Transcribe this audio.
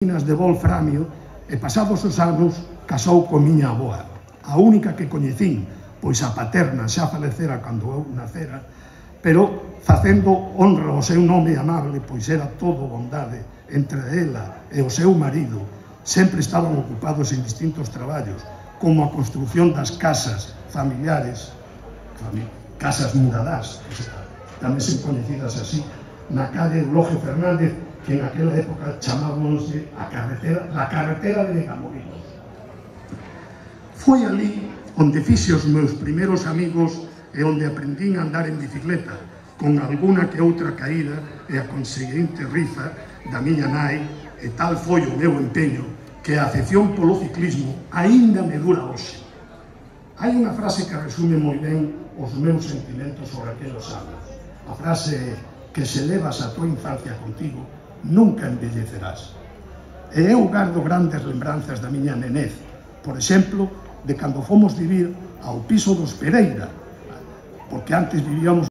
minas de wolframio e pasados os anos casou con miña avoa, a única que coñecín, pois a paterna xa falecera cando eu nacera, pero facendo honra ao seu nome amable, pois era todo bondade entre ela e o seu marido. Sempre estaban ocupados en distintos traballos, como a construción das casas familiares, casas muradás, tamén sen coñecidas así, na calle Eulogio Fernández, que en aquela época chamábamos a carretera de Negamolinos. Foi ali onde fixe os meus primeiros amigos e onde aprendín a andar en bicicleta, con alguna que outra caída e a conseguinte rifa da miña nai, e tal foi o meu empeño que a afección polo ciclismo aínda me dura hoxe. Hai unha frase que resume moi ben os meus sentimentos sobre aqueles anos. A frase é que se levas a tua infancia contigo, nunca envellecerás. E eu gardo grandes lembranzas da miña nenez, por exemplo, de cando fomos vivir ao piso dos Pereira, porque antes vivíamos